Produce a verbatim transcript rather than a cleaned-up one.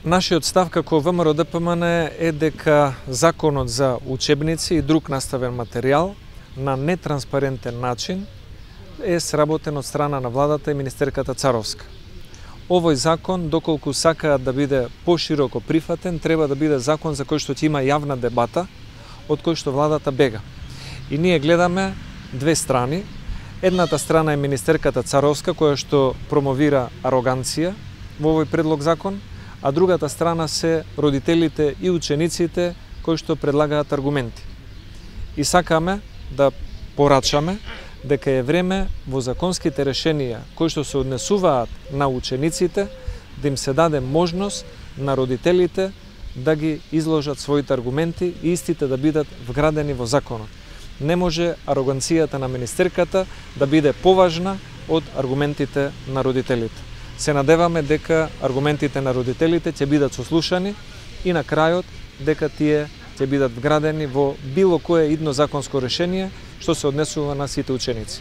Нашиот став како ВМРО Д П М Н е дека законот за учебници и друг наставен материјал на нетранспарентен начин е сработен од страна на владата и министерката Царовска. Овој закон, доколку сакаат да биде пошироко прифатен, треба да биде закон за кој што ќе има јавна дебата, од кој што владата бега. И ние гледаме две страни. Едната страна е министерката Царовска, која што промовира ароганција во овој предлог закон, а другата страна се родителите и учениците кои што предлагаат аргументи. И сакаме да порачаме дека е време во законските решенија кои што се однесуваат на учениците да им се даде можност на родителите да ги изложат своите аргументи и истите да бидат вградени во законот. Не може ароганцијата на министерката да биде поважна од аргументите на родителите. Се надеваме дека аргументите на родителите ќе бидат сослушани и на крајот дека тие ќе бидат вградени во било кое идно законско решение што се однесува на сите ученици.